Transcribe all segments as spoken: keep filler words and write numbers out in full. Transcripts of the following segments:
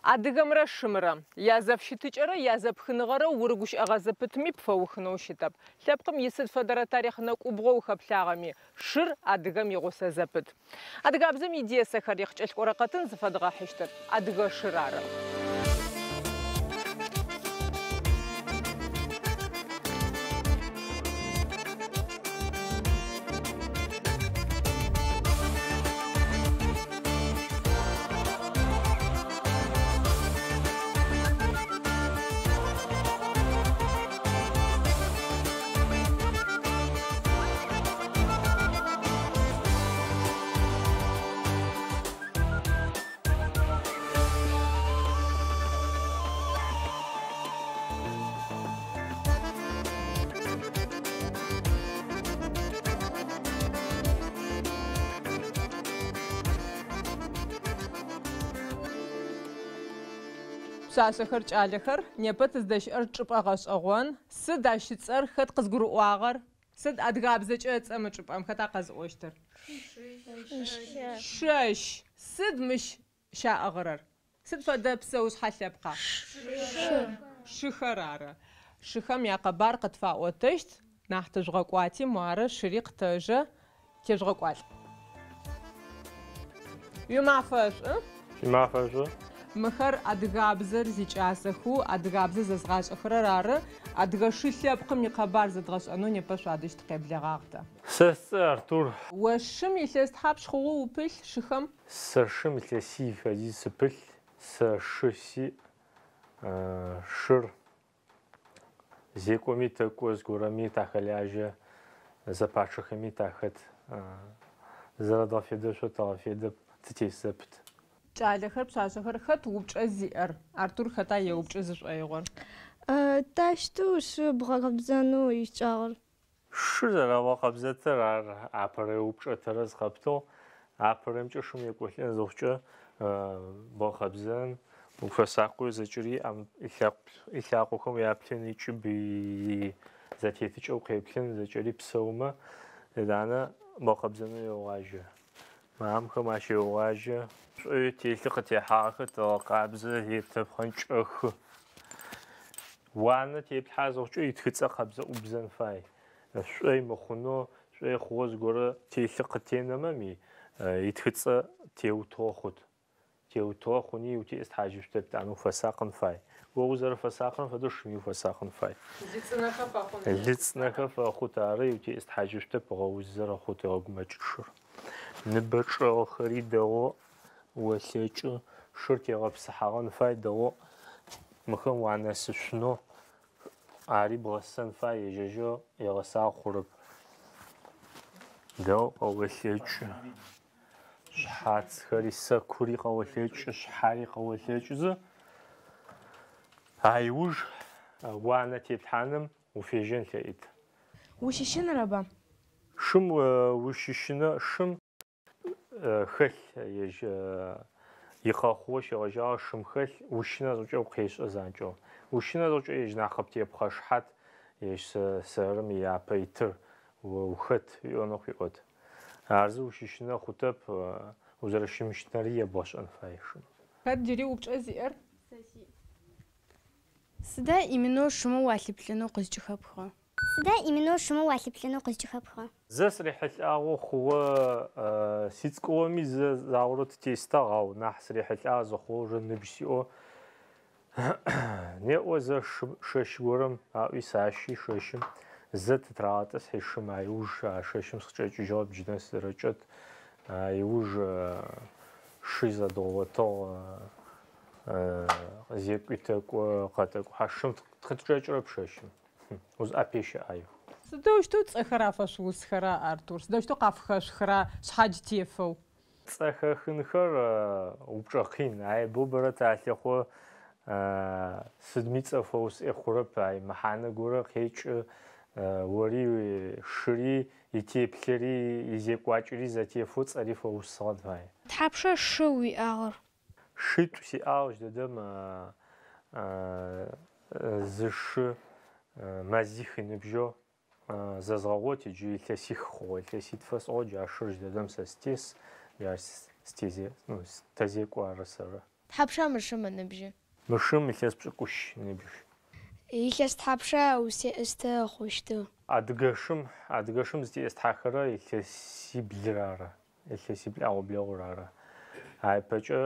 Адыгэмрэ шымрэ язэфщытыкӏэрэ язэпхыныгъэрэ урыгущыӏэгъэ зэпытми пфэухынэу щытэп. Лъэпкъым исыд фэдэрэ тарихъ нэкӏубгъо ухэплъагъэми, шыр адыгэм игъусэ зэпыт. Адыгабзэм идесэхэр ихъкӏэлъкӏорэ къэтын зыфэдгъэхьыщтыр адыгэ шыр ары. Пшъашъэхэр кӏалэхэр непэ тыздэщыӏэр чӏыпӏэ гъэшӏэгъон. Сыд ащ ыцӏэр, хэт къызгурыӏуагъэр? Сыд адыгабзэкӏэ ыцӏэ мы чӏыпӏэм хэта къэзыӏощтыр? Шэщ. Сыд мыщ щаӏыгъырэр? Сыд фэдэ псэушъхьэ лъэпкъа? Шыхэр ары. Шыхэм якъэбар къытфаӏотэщт. Нахь тыжъугъэкӏуати, муары шыри къытэжэ тежъугъэкӏуалӏ. Уимафэ шӏу? Уимафэ шӏу? Мыхэр адыгабзэр зикӏасэхэу, адыгабзэ зэзгъашӏэхэрэр ары. Адыгэ шы лъэпкъым икъэбар зэдгъэшӏэнэу непэ шъуадэжь тыкъеблэгъагъ тэ. Сэ сцӏэ Артур. О шым илъэс тхьапш хъугъэу упылъ шыхэм? Сэ шым илъэсий фэдиз сыпылъ. Сэ шы сиӏ. Шыр зекӏоми тэкӏо, зыгорэми тахэлажьэ, зэпачъэхэми тахэт. Зэрэдгъэфедэшъо тэгъэфедэ, тытес зэпыт. Кӏалэхэр, пшъашъэхэр хэт упчӏэ зиӏэр? Артур хэта еупчӏы зышӏоигъор? Тащтэу шы бгъэкъэбзэнэу ищыкӏагъэр? Шыр зэрэбгъэкъэбзэтэр ар апэрэ упчӏэ тэрэз къэптыгъ. Апэрэмкӏэ шым екӏолӏэн зыхъукӏэ бгъэкъэбзэн, уфэсакъэу зэкӏэри илъакъохэм уяплъын, икӏыб зэтетыкӏэ укъеплъын, зэкӏэри псэумэ, етӏанэ бгъэкъэбзэнэу еогъажьэ. Мамхэм ащ еогъажьэ. Шӏои телъы къытехьагъэхэр тэгъэкъабзэ, етэпхъэнкӏэхы. Уанэ теплъхьэ зыхъукӏэ итхыцӏэ къэбзэ ӏубзэн фай. Шӏой мыхъунэу, шӏой хъугъэ зыгорэ телъы къытенэмэми итхыцӏэ теутыгъэ хъут. Теутыгъэ хъуни утеӏыстхьажьышъутэп, етӏанэ уфэсакъын фай. О узэрэфэсакъырэм фэдэу шыми уфэсакъын фай. Лыцӏынэхэ фэхъун. Лыцӏынэхэ фэхъут ары, утеӏыстхьажьышъутэп, гъэузэрэ хъут, егъэгумэкӏыт шыр. Ныбэ чӏэгъхэри дэгъоу олъэкӏы, шыр тегъэпсыхьагъэн фай дэгъоу мыхэм уанэсышъунэу, ари бгъэсэн фай, ежьэжьэу егъэсагъ хъурэп. Дэгъоу къэолъэкӏы. Шъхьацхэри, сэкури къэолъэкӏы, шъхьари къэолъэкӏызэ. Ай уж уанэ теплъхьаным уфежьэн лъэӏит. Ущыщынэрэба? Шым ущыщынэ, шым хэлъ ежь икъэхъугъэ щегъэжьагъэ шым хэлъ, ущынэ зыхъукӏэ укъешӏэ занкӏэу. Ущынэ зыхъукӏэ ежь нахь къыптепхъэ шыхьат, ежь сэрым япэ итыр ухэт уиӏонэу къыуиӏот. Ар зы ущыщынэ хъутэп, узэрэщымыщынэри ебгъэшӏэн фай шым. Хэт джыри упчӏэ зиӏэр? Сыда именно шымэ уалъыплъэнэу къызкӏыхэпхыгъэр? Сыда именно шымэ уалъыплъэнэу къызкӏыхэпхыгъэр? Зэ сырихьылӏагъэу хъугъэ сицӏыкӏугъэми зэ загъорэ тытестагъ, ау нахь сырихьылӏагъ зыхъугъэ уже ныбжь сиӏэу. Неӏо зэ шэщ горэм аӏуи сащи шэщым зэ тытрагъэтӏысхьи шым ай уж а шэщым сыкъычӏэкӏыжьыгъэп, джы нэс сызэрэкӏэт. Ай уж шы зэдгъотыгъ, зекӏуи тэкӏо, къэтэкӏухьэ. Шым тыкъычӏэкӏырэп шэщым. Узӏэпещэ ӏаеу. Сыдэущтэу цӏэхэр афэшъуусхэра, Артур? Сыдэущтэу къафхэшъухра шъхьадж тефэу? Цӏэхэхынхэр упчӏэ къин. Ай боу бэрэ талъэхъо сыдми цӏэ фэусӏе хъурэп. Ай мэхьанэ горэ къекӏы, ори шыри, итеплъэри, изекӏуакӏэри зэтефэу цӏэри фэусыгъэн фай. Тхьапшэ шы уиӏагъэр? Шитӏу сиӏагъ, джыдэдэм зы шы мэзих ыныбжьэу зэзгъэгъот, иджы илъэсих хъугъэ, илъэситфэ сӏыгъо, джа шыр джыдэдэм сэ сытес, джа сытезе, ну, тэзекӏо ары сэры. Тхьапша мы шым ыныбжьы? Мы шым илъэс пшӏыкӏущ ыныбжь. Илъэс тхьапша узтеӏыстэ хъущтыр? Адыгэ шым, адыгэ шым зытеӏыстхьэхэрэ илъэсиблыр ары. Илъэсибл ӏэгъо-блэгъур ары. Айпэкӏэ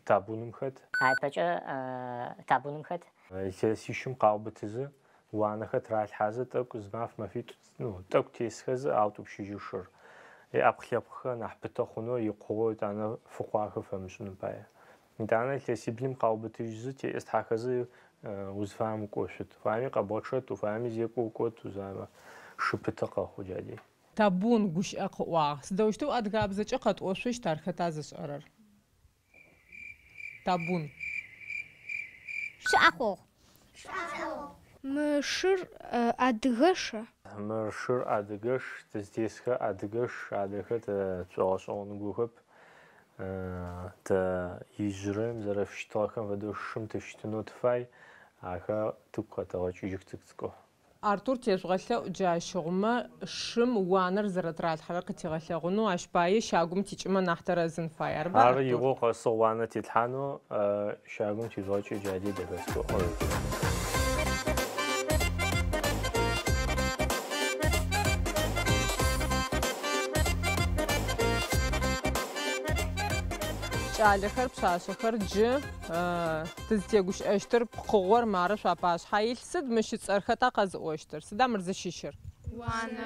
табуным хэт. Айпэкӏэ табуным хэт. Илъэсищым къаубытызы, уанэхэр тыралъхьазы, тӏэкӏу зы маф мэфитӏу, ну, тӏэкӏу тесхэзы аутӏупщыжьы шыр. Ӏэпкъ-лъэпкъхэр нахь пытэ хъунэу икъугъэу итӏанэ фыкъуахэ фэмышӏыным пае. Итӏанэ илъэсиблым къаубытыжьызы, теӏыстхьэхэзы узфаем укӏошъут. Уфаеми къэбгъэчъэт, уфаеми зекӏо укӏот, узфаемэ шы пытэ къэхъу джади. Табун гущыӏэ къыӏуагъ. Сыдэущтэу адыгабзэкӏэ къэтӏошъущт ар хэта зышӏэрэр? Табун. Шы ӏэхъогъу. Мы шыр адыгэша? Мы шыр адыгэш, тызтесхэр адыгэш, адрэхэр тэ тшӏогъэшӏэгъоныгохэп. Тэ ижъырэм зэрэфыщытыгъэхэм фэдэу шым тыщытынэу тыфай, ахэр тыгу къэтэгъэкӏыжьых цӏыкӏу-цӏыкӏоу. Артур тежъугъэлъэӏу джащыгъумэ шым уанэр зэрэтыралъхьэрэр къытигъэлъэгъунэу, ащ пае щагум тикӏымэ нахь тэрэзын фай. Арба, Ары Артур? игъо къэсыгъ уанэ тетлъхьанэу, щагум тижъугъэкӏы джади дэхэсыгъ. Кӏалэхэр, пшъашъэхэр джы тызтегущыӏэщтыр пкъыгъор мары шъуапашъхьэ илъ. Сыд мыщ ыцӏэр хэта къэзыӏощтыр? Сыда мыр зыщыщыр? Уанэ.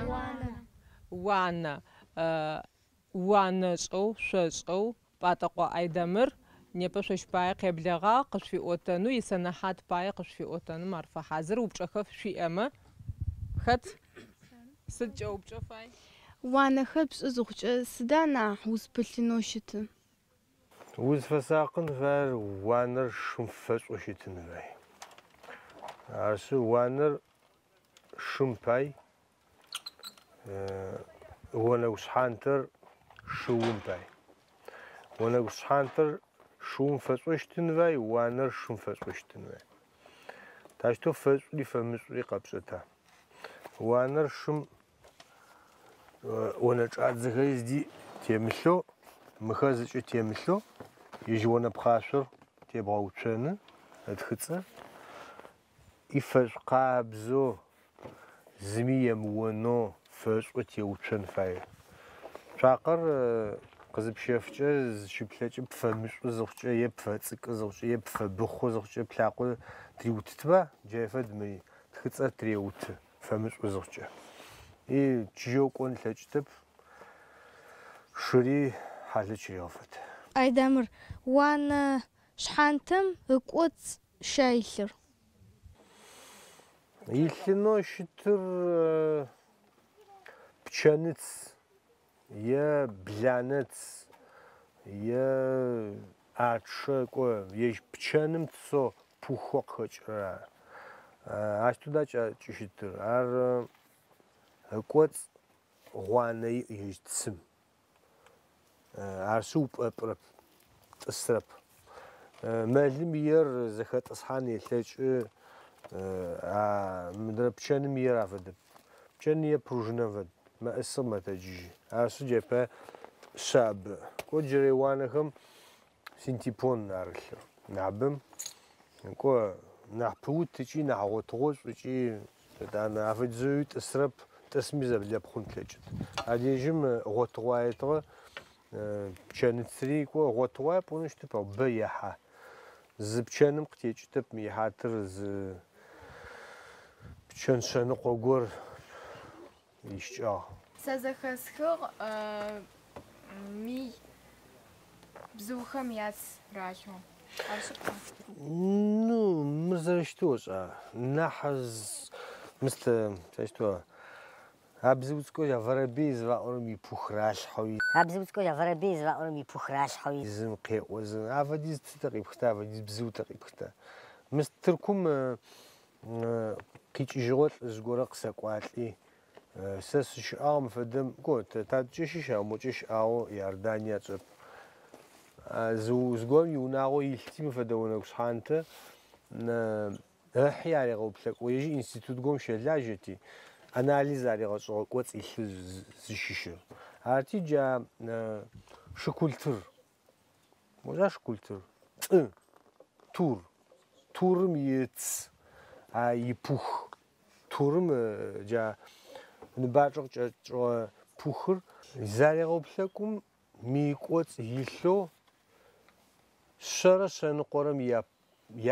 Уанэ. Уанэшӏэу, шъошӏэу Пӏатӏэкъо Айдэмыр непэ шъощ пае къеблэгъагъ, къышъуфиӏотэнэу, исэнэхьат пае къышъуфиӏотэным ар фэхьазыр. Упчӏэхэр шъуиӏэмэ. Хэт? Сыд кӏэупчӏэ фай? Уанэхэр пшӏы зыхъукӏэ сыда нахь узпылъынэу щытыр? Узфэсакъын фаер уанэр шым фэшӏоу щытын фай. Арышъы уанэр шым пай, онэгу шъхьантэр шыум пай. Онэгу шъхьантэр шыум фэшӏоу щытын фай, уанэр шым фэшӏоу щытын фай. Тащтэу фэшӏури фэмышӏури къэпшӏэта. Уанэр шым онэ чӏадзэхэри зыди темылъэу, мыхэр зыкӏэ темылъэу, ежь онэ пхъашъор тебгъэуцоны, ытхыцӏэ. Ифэшӏу къабзэу, зыми емыонэу фэшӏоу теуцон фае. Цуакъэр къызыпщэфкӏэ зыщыплъэкӏэ пфэмышӏу зыхъукӏэ е пфэцӏыкӏы зыхъукӏэ е пфэбыхъу зыхъукӏэ плъакъо тыриутытба, джай фэд мы тхыцӏэр тыреуты фэмышӏу зыхъукӏэ. И чыжьэу кӏон лъэкӏытэп, шыри хьалэ чырегъэфэт. Айдэмыр, уанэ шъхьантэм ыкӏоцӏ ща илъыр? Илъынэу щытыр пчэныц е бланэц е ачъэ кӏо ежь пчэным цо пухо къыхэкӏырэр ары. Ащ туда кӏыщытыр. Ар ыкӏоцӏ гъуанэ иӏ ежь цым. Арышъы упӏэпӏырэп, тӏысырэп. Мэлым иер зэхэтӏысхьан елъэкӏы, мыдрэ пчэным иер афэдэп. Пчэным ие пружинэм фэд, мэӏысыгъ мэтэджыжьы. Арышъы джэпэ шъабэ. Кӏо джырэ уанэхэм синтепон арылъыр. Нахьыбэм кӏо нахь пыут ыкӏи нахь гъотыгъошӏу ыкӏи етӏанэ афэдизэуи тӏысырэп, тӏысми зэблэпхъун плъэкӏыт. Адежьым гъотыгъуаетыгъэ пчэныцри кӏо гъотыгъуае пӏонэу щытэп, ау бэ ехьа. Зы пчэным къытекӏытэп мы ихьатыр зы пчэн шъэныкъо гор ищыкӏагъ. Сэ зэхэсхыгъ мый бзыухэм яц ралъэу. Ар шъыпкъэ? Ну, мыр зэрэщытэу ошӏа. Нахь мыстэ, сащтэу, а бзыу цӏыкӏоу я воробей зыфаӏорэм ипух ралъхьэу. А бзыу цӏыкӏоу я воробей зыфаӏорэм ипух ралъхьэу. Зым къеӏо, зым афэдиз цы тэ къипхыта, афэдиз бзыу тэ къипхыта. Мыс Тыркум къикӏыжьыгъо лӏыжъ горэ къысэкӏуалӏи, сэ сыщыӏагъ мы фэдэм, кӏо, тадэкӏэ щыщ, ау мокӏэ щыӏагъэу Иордания чӏэп. Зыгорэм иунагъо илъти мы фэдэ онэгу шъхьантэ ыхьи аригъэуплъэкӏо, ежь институт горэм щэлажьэти, анализ аригъэшӏыгъэ кӏоцӏ илъы зыщыщыр. Арти джа шыкультыр. Можа шыкультыр? Тӏы, тур, турым иц, а ипух. Турым джа ныбачӏэ къыкӏэкӏыгъэ пухыр зарегъэуплъэкӏум мыикӏоцӏ илъэу шъэрэ шъэныкъорэм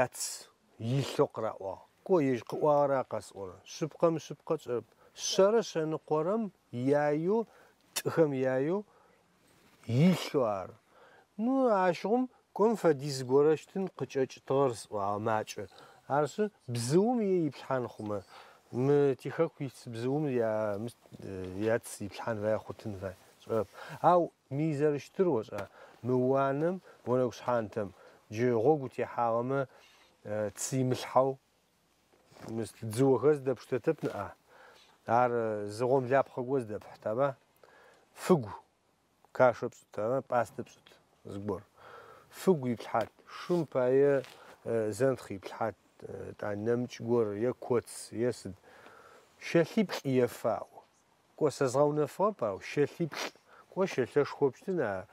яц илъэу къыраӏуагъ. Ко ежь къыӏуагъэр къэсӏорэ. Шъыпкъэм шъыпкъэ чӏэп. Шъэрэ шъэныкъорэм яеу тӏыхэм яеу илъэу ар. Ну ащыгъум ком фэдиз горэщтын къыкӏэкӏытыгъэр сӏуагъэ макӏэ. Арышъы бзыум е иплъхьан хъумэ. Мы тихэку ис бзыум я яц иплъхьан фае хъутын фае. Чӏэп. Ау ми зэрыщтыр ошӏа мы уанэм онэгу шъхьантэм джы гъогу техьагъэмэ цы имылъхьэу дзыохэр зыдэпштэтэп ныӏа. Ар зы гъомлапхъэ го зыдэпхьытаба. Фыгу кашэ пшӏытаба, пӏастэ пшӏыт зыгор. Фыгу иплъхьат, шым пае зэнтхъ иплъхьат, та нэмыкӏ гор е коц е сыд. Щэлъиплӏ ефаӏо. Ко сэ згъэунэфыгъэп ау щэлъиплӏ. Ко щэлъэшхо пщтын а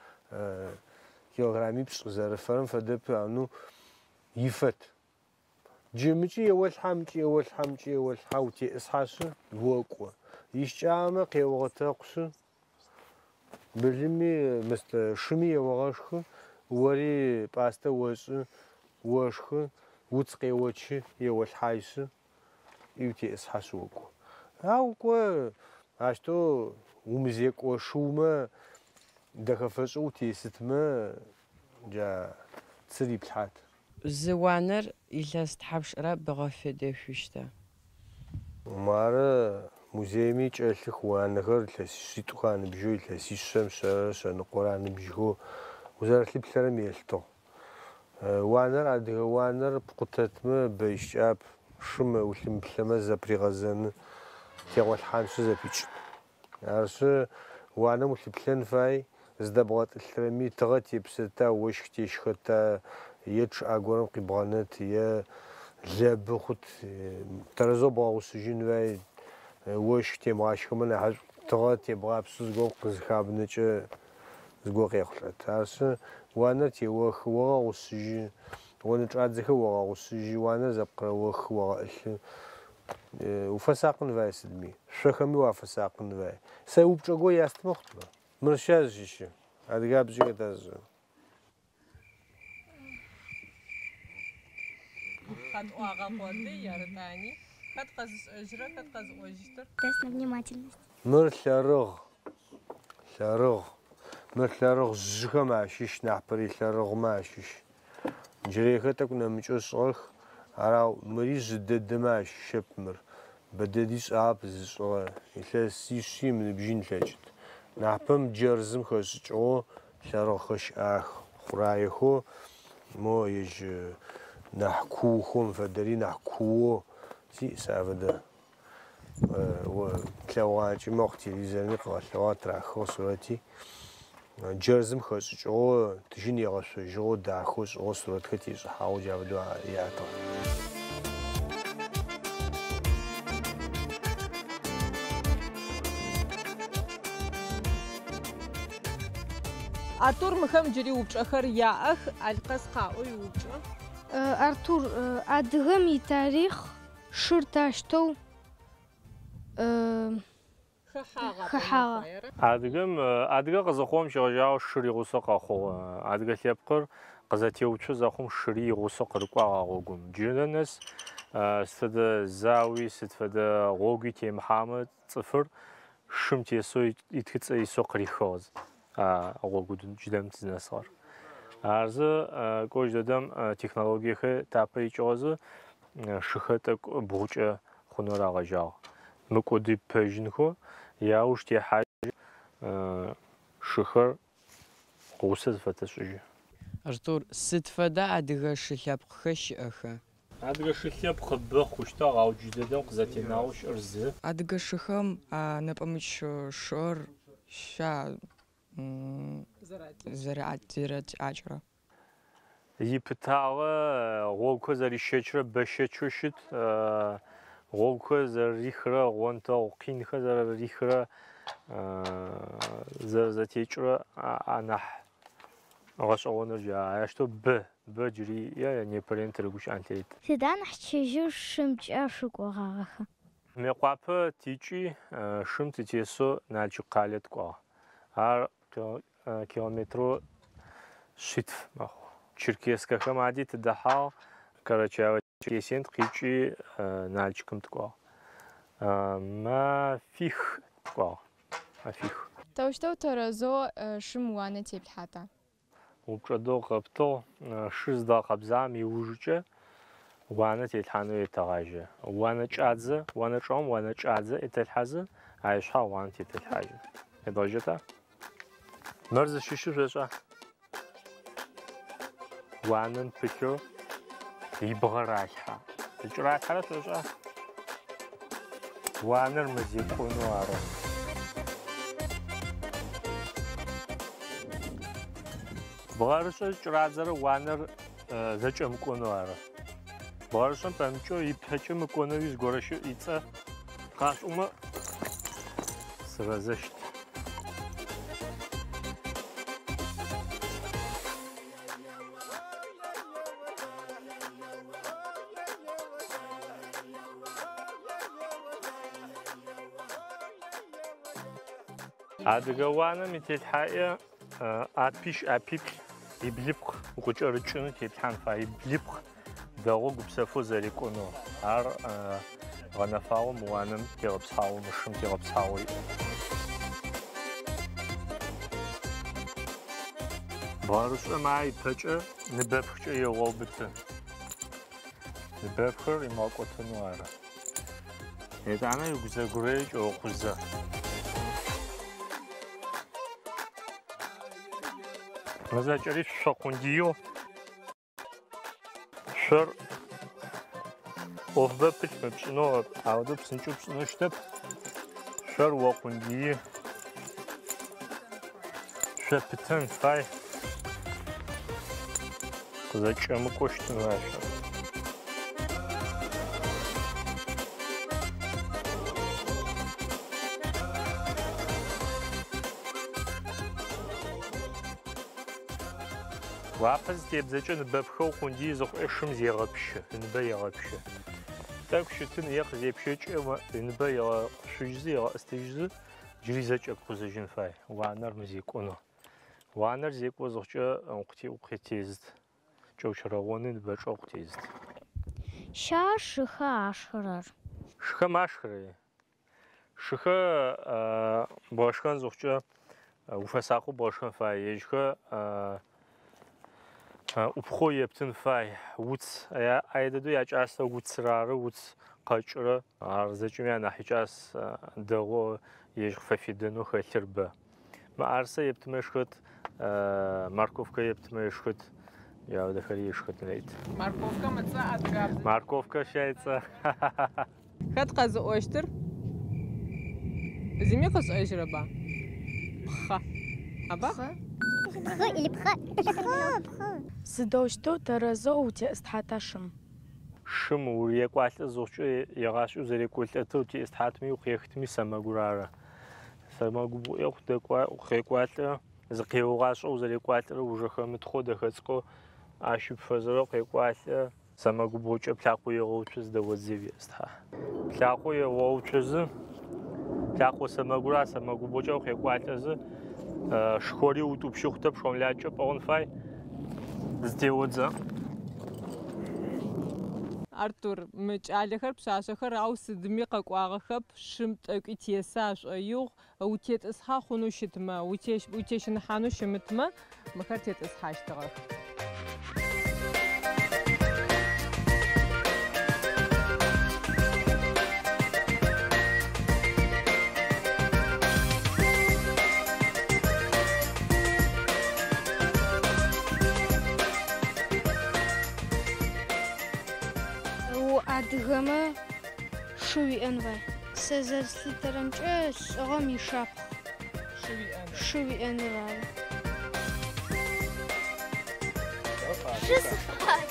килограммипшӏ зэрыфэрэм фэдэп ну ифэт. Джы мыкӏи еолъхьа, мыкӏи еолъхьа, мыкӏи еолъхьа, утеӏысхьашъы окӏо. Ищкӏагъэмэ къеогъэтэкъушъы, былыми шыми еогъэшхы, ори пӏастэ ошӏы, ошхы, уц къеочы, еолъхьайшъы, утеӏысхьашъы окӏо. Ау ко ащтэу умызекӏо шыумэ дэхэфэшӏэу утесытмэ джа цыр иплъхьат. Зы уанэр илъэс тхьапшрэ бгъэфедэшъущта? Мары музейми кӏэлъых уанэхэр илъэсишъитӏухэ аныбжьэу, илъэсишъэм шъэрэ шъэныкъорэ аныбжьхэу узэрэлъыплъэрэм елъытыгъ. Уанэр адыгэ уанэр пкъутэтмэ бэищкӏап, шым улъымыплъэмэ зэпригъэзэны, тегъолъхьаншъы зэпичӏын. Арышъы уанэм улъыплъэн фай, зыдэбгъэтӏылъырэми тыгъэ тепсэта, ощх тещхэта, е чъыӏэ горэм къибгъэнэт, е лэбы хъут, тэрэзэу бгъэгъусыжьын фай, ощх темыгъащхэмэ нахьышӏу, тыгъэ тебгъапсэу зыгорэм къызыхабнэкӏэ зыгорэ къехъулӏэт. Арышъы уанэр теохы, огъэгъусыжьы, онэчӏадзэхэр огъэгъусыжьы, уанэр зэпкъырэохы, огъэӏылъы. Уфэсакъын фай сыдми, шъохэми уафэсакъын фай. Сэ упчӏэ го ястымэ хъутмэ. Мыр ща зыщыщы, адыгабзэкӏэ хэта зышӏэ? Къэтӏуагъэ къоды, ярытӏани. Хэт къэзышӏэжьырэ, хэт къэзыӏожьыщтыр? Тест на внимательность. Мыр лъэрыгъ, лъэрыгъ. Мыр лъэрыгъ жъыхэм ащыщ, нахьпэрей лъэрыгъмэ ащыщ. Джырейхэр тӏэкӏу нэмыкӏэу шӏыгъэх, арау мыри жъы дэдэмэ ащыщэп мыр. Бэдэди шӏагъэп зышӏыгъэ, илъэсишъи мыныбжьын лъэкӏыт. Нахьпэм джэрзым хэшӏыкӏыгъэу лъэрыгъхэр щыӏэх, хъураехэу, мо ежь нахь куухом фэдэри нахь куоу си сэ афэдэ. Тлъэгъуакӏи мэхъу телевизорми къыгъэлъэгъуагъ, тырахыгъ сурэти. Джэрзым хэшӏыкӏыгъэу, тыжьын егъэшъожьыгъэу, дахэу шӏыгъэу сурэтхэр тешӏыхьагъэу джа фэдэу ятыгъ. Артур мыхэм джыри упчӏэхэр яӏэх, Алкъэс къаӏо иупчӏэ. Артур, адыгэм итарихъ шыр тащтэу хэхьагъэ. Адыгэм адыгэ къызыхъугъэм щегъэжьагъэу шыр игъусэу къэхъугъ. Адыгэ лъэпкъыр къызэтеуцо зэхъум шыри игъусэу къырыкӏуагъ а гъогум. Джырэ нэс сыд фэдэ зауи, сыд фэдэ гъогуи темыхьамэ цӏыфыр шым тесэу итхыцӏэ исэу къырихыгъ а гъогу джыдэм тызнэсыгъэр. Арзы кӏожь дэдэм технологиехэр тапэ икӏыгъэзы шыхэр тӏэкӏу бгъукӏэ хъунэу рагъэжьагъ. Мыкӏоды пэжьынхэу яуж техьажьы шыхэр гъусэ зыфэтэшӏыжьы. Артур, сыд фэдэ адыгэ шы лъэпкъхэр щыӏэха? Адыгэ шы лъэпкъ бэ хъущтыгъ, ау джыдэдэм къызэтенагъэу щыӏэр зы. Адыгэ шыхэм нэпӏэмыкӏ шыр ща зэратекӏырэ. Ипытагъэ гъогухэр зэрищэчырэ бэщэчэу щыт, гъогухэр зэрэрихырэ, гъонтэгъу къинхэр зэрэрихырэ, зэрэзэтекӏырэ анахь Гъэшӏэгъоныр джа ащтэу бэ, бэ джыри е непэрен тырыгущыӏэн тет. Сыда нахь чыжьэу шымкӏэ шъукӏогъагъэха? Мыекъуапэ тикӏи шым тытесэу Налчык къалэ тыкӏуагъ. Ар километрэу шъитф мэхъу. Черкесскэхэм ади тыдэхьагъ, Карачаево-Черкесием тыкъикӏи Налчыкым тыкӏуагъ. Мафих тыкӏуагъ. Мафих. Таущтэу тэрэзэу шым уанэ теплъхьата? Упчӏэ дэгъу къэптыгъ. Шыр зыдгъэкъэбзагъэм иужыкӏэ уанэ телъхьанэу етэгъажьэ. Уанэ кӏадзэ, уанэ чӏэгъым уанэ кӏадзэ етэлъхьазы, ай шъхьагъ уанэ тетэлъхьажьы. Едгъэжьэта? Мыр зыщыщыр шъошӏа? Уанэм пылъэу ибгъэ ралъхьэ. Зыкӏыралъхьэрэ шъошӏа? Уанэр мэзекӏонэу ары. Бгъэрышӏэ зыкӏырадзэрэ уанэр зэкӏэмыкӏонэу ары. Бгъэрышӏэм пэмыкӏэу ипэкӏэ мыкӏонэуи зыгорэ щыӏ ицӏэ къашӏумэ сырэзэщт. Адыгэ уанэм ителъхьаӏэ ӏапищ ӏапиплӏ иблыпкъ укъыкӏэрыкӏынэу теплъхьан фай. Иблыпкъ дэгъоу гупсэфэу зэрекӏонэу. Ар гъэнэфагъэу мы уанэм тегъэпсхьагъэу, мы шым тегъэпсхьагъэу иӏ. Бгъэрышӏэм ар ипэкӏэ ныбэпхкӏэ егъэубыты. Ныбэпхыр имыгъэкӏотэнэу ары. Етӏанэ игузэгурэ кӏэукъузэ. Мызэкӏэри шъо къундиеу. Шъор ӏофбэ пылъ мыпшӏынэу, аудэу псынкӏэу пшӏынэу щытэп. Шъор окъундии. Шъо пытэн фай. Къызэкӏэмыкӏоу щытын фай шъор. Уапэ зытебзэкӏэ ныбэпхэу къундий зыхъукӏэ шым зегъэпщы, ныбэ егъэпщы. Тӏэкӏу щытын е къызепщэкӏэ ныбэ егъэшъужьызы, егъэӏыстыжьызы, джыри зэкӏэпкъузыжьын фай. Уанэр мызекӏонэу. Уанэр зекӏо зыхъукӏэ укъытезыт. Кӏэучэрэгъоны ныбэ чӏэ укъытезыт. Ща шыхэ ашхырэр? Шыхэм ашхырэ. Шыхэ бгъэшхэн зыхъукӏэ уфэсакъэу бгъэшхэн фай. Ежьхэ ӏупхъоу ептын фай. Уц, айдэдэу якӏасэ уцыр ары, уц къэкӏырэ. Ар зэкӏэми анахь икӏас дэгъоу ежь къыфэфедэнэу хэлъыр бэ. Мыӏэрысэ ептымэ ышхыт, морковкэ ептымэ ышхыт, яудэхэри ышхыт нейт. Морковкэм ыцӏэ адыгабзэ. Морковкэ щай ыцӏэ. Хэт къэзыӏощтыр? Зыми къышӏэжьырэба? Пхъэ. Аба? Пхъэ или пхъэ? Пхъэ, пхъэ. Сыдэущтэу тэрэзэу утеӏыстхьата шым? Шым урекӏуалӏэ зыхъукӏэ егъашӏэу зэрекӏолӏэтэу утеӏыстхьатми укъехытми сэмэгур ары. Сэмэгубгъуӏэ укъекӏуалӏэ, зыкъеугъашӏэу узэрекӏуалӏэрэ ужэхэмытхъоу дэхэцӏыкӏоу ащ пфэзэрэу къекӏуалӏэ. Сэмэгубгъукӏэ плъакъо егъэуцузы дэодзе уеӏыстхьа. Плъакъо егъэуцузы, плъакъо сэмэгура сэмэгубгъукӏэ укъекӏуалӏэзы, шхори утӏупщы хъутэп, шхомлакӏэ пӏыгъын фай. Зытеодзэ. Артур, мы кӏалэхэр пшъашъэхэр ау сыдми къэкӏуагъэхэп, шым тӏэкӏуи тесы ашӏоигъу, утетӏысхьа хъунэу щытмэ, утещыныхьанэу щымытмэ, мыхэр тетӏысхьащтыгъэх. Адыгэмэ шы уиӏэн фай. Сэ зэрыслъытэрэмкӏэ лӏыгъэм ишапхъ. Шы уиӏэныр ары. Шы сыфай.